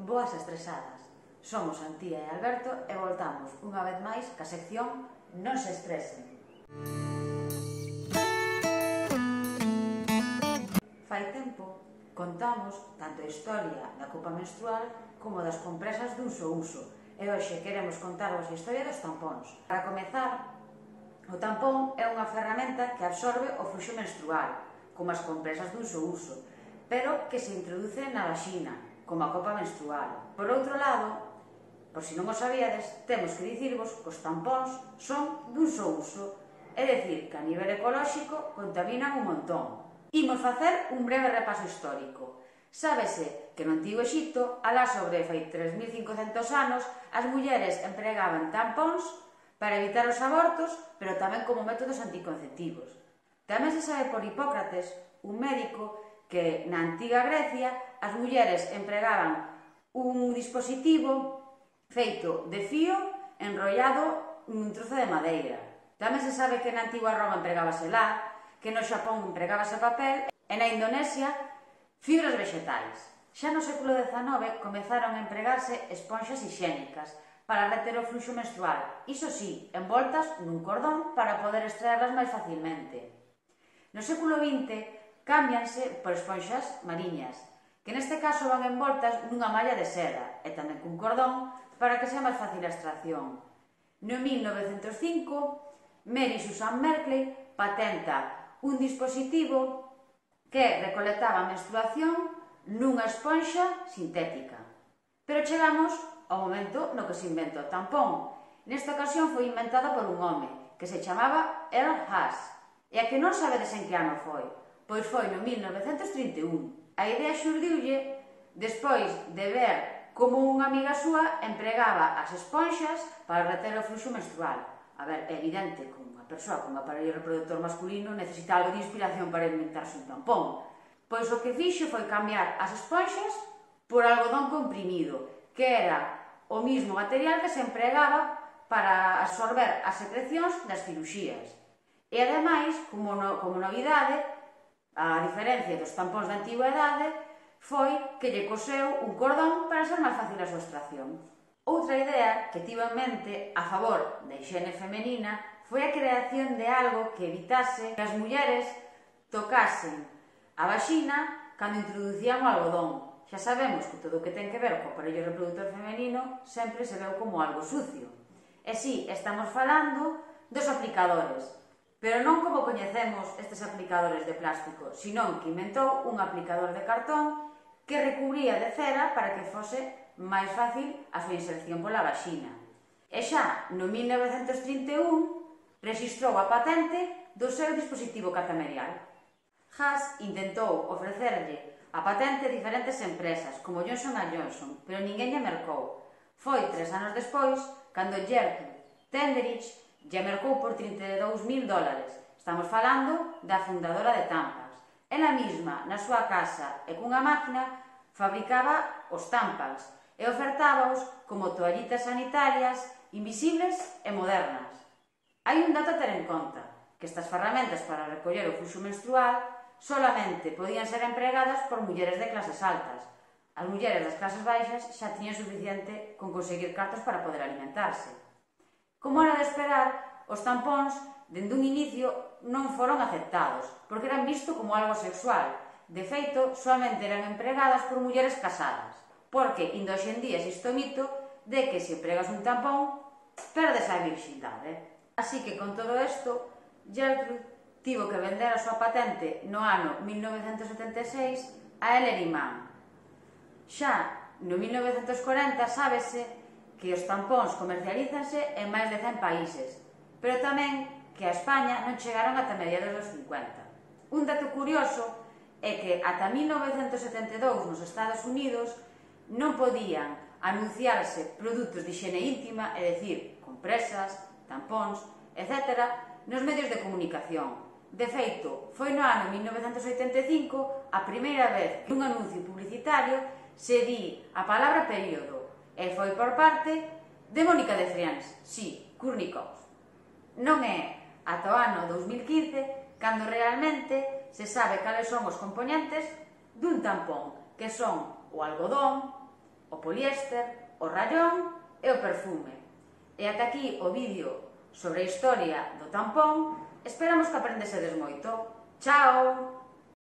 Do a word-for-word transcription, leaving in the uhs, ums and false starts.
boas estresadas. Somos Antía e Alberto e voltamos unha vez máis ca sección Non se estresen. Fai tempo contamos tanto a historia da copa menstrual como das compresas dun só uso e hoxe queremos contarvos a historia dos tampóns. Para comezar, o tampón é unha ferramenta que absorbe o fluxo menstrual, como as compresas dun só uso, pero que se introduce na vaxina, como a copa menstrual. Por outro lado, por si non o sabíades, temos que dicirvos que os tampóns son dun só uso, é dicir, que a nivel ecolóxico contaminan un montón. Imos facer un breve repaso histórico. Sábese que no Antigo Exipto, alá sobre fai tres mil cincocentos anos, as mulleres empregaban tampóns para evitar os abortos, pero tamén como métodos anticonceptivos. Tamén se sabe por Hipócrates, un médico, que na antiga Grecia as mulleres empregaban un dispositivo feito de fío enrollado nun trozo de madeira. Tamén se sabe que na antigua Roma empregábase lá, que no Xapón empregábase papel e na Indonesia fibras vegetais. Xa no século dezanove comezaron a empregarse esponxas hixiénicas para reter o fluxo menstrual, iso sí, envoltas nun cordón para poder extraerlas máis facilmente. No século vinte cámbianse por esponxas mariñas, que neste caso van envoltas nunha malla de seda e tamén cun cordón para que sea máis fácil a extracción. No mil novecentos cinco, Mary Susan Merkley patenta un dispositivo que recolectaba a menstruación nunha esponxa sintética. Pero chegamos ao momento no que se inventa o tampón. Nesta ocasión foi inventado por un home que se chamaba Earl Haas. E a que non sabedes en que ano foi? Pois foi no mil novecentos trinta e un. A idea xurdiulle despois de ver como unha amiga súa empregaba as esponxas para reter o fluxo menstrual. A ver, é evidente que unha persoa con un aparello reproductor masculino necesita algo de inspiración para inventarse un tampón. Pois o que fixo foi cambiar as esponxas por algodón comprimido, que era o mismo material que se empregaba para absorber as secrecións das ciruxías. E ademais, como, no, como novidade, a diferencia dos tampóns da antigüedade, foi que lle coseu un cordón para ser máis fácil a súa extracción. Outra idea que tivo en mente a favor da hixiene femenina foi a creación de algo que evitase que as mulleres tocasen a vaxina cando introducían o algodón. Xa sabemos que todo o que ten que ver co aparello reproductor femenino sempre se veu como algo sucio. E si, estamos falando dos aplicadores, pero non como coñecemos estes aplicadores de plástico, senón que inventou un aplicador de cartón que recubría de cera para que fose máis fácil a súa inserción pola vaxina. E xa no mil novecentos trinta e un rexistrou a patente do seu dispositivo catamerial. Haas intentou ofrecerlle a patente a diferentes empresas, como Johnson and Johnson, pero ninguén lle mercou. Foi tres anos despois, cando Gertrude Tenderich lle mercou por trinta e dous mil dólares. Estamos falando da fundadora de Tampax. Ela mesma, na súa casa e cunha máquina, fabricaba os Tampax e ofertábaos como toallitas sanitarias invisibles e modernas. Hai un dato a ter en conta, que estas ferramentas para recoller o fluxo menstrual solamente podían ser empregadas por mulleres de clases altas. As mulleres das clases baixas xa tiñan suficiente con conseguir cartos para poder alimentarse. Como era de esperar, os tampóns, dende un inicio, non foron aceptados, porque eran visto como algo sexual. De feito, solamente eran empregadas por mulleres casadas, porque, indo hoxe en día, existe o mito de que se empregas un tampón, perdes a virxindade. Así que, con todo isto, Gertrude tivo que vender a súa patente no ano mil novecentos setenta e seis a Ellery Mann. Xa no mil novecentos corenta sábese que os tampóns comercialízanse en máis de cen países, pero tamén que a España non chegaron ata mediados dos cincuenta. Un dato curioso é que ata mil novecentos setenta e dous nos Estados Unidos non podían anunciarse produtos de higiene íntima, é dicir, compresas, tampóns, etcétera, nos medios de comunicación. De feito, foi no ano mil novecentos oitenta e cinco a primeira vez que un anuncio publicitario se di a palabra período, e foi por parte de Mónica de Frians, sí, Kurnikov. Non é ata o ano dous mil quince cando realmente se sabe cales son os componentes dun tampón, que son o algodón, o poliéster, o rayón e o perfume. E ata aquí o vídeo sobre a historia do tampón. Esperamos que aprendesedes moito. Chao!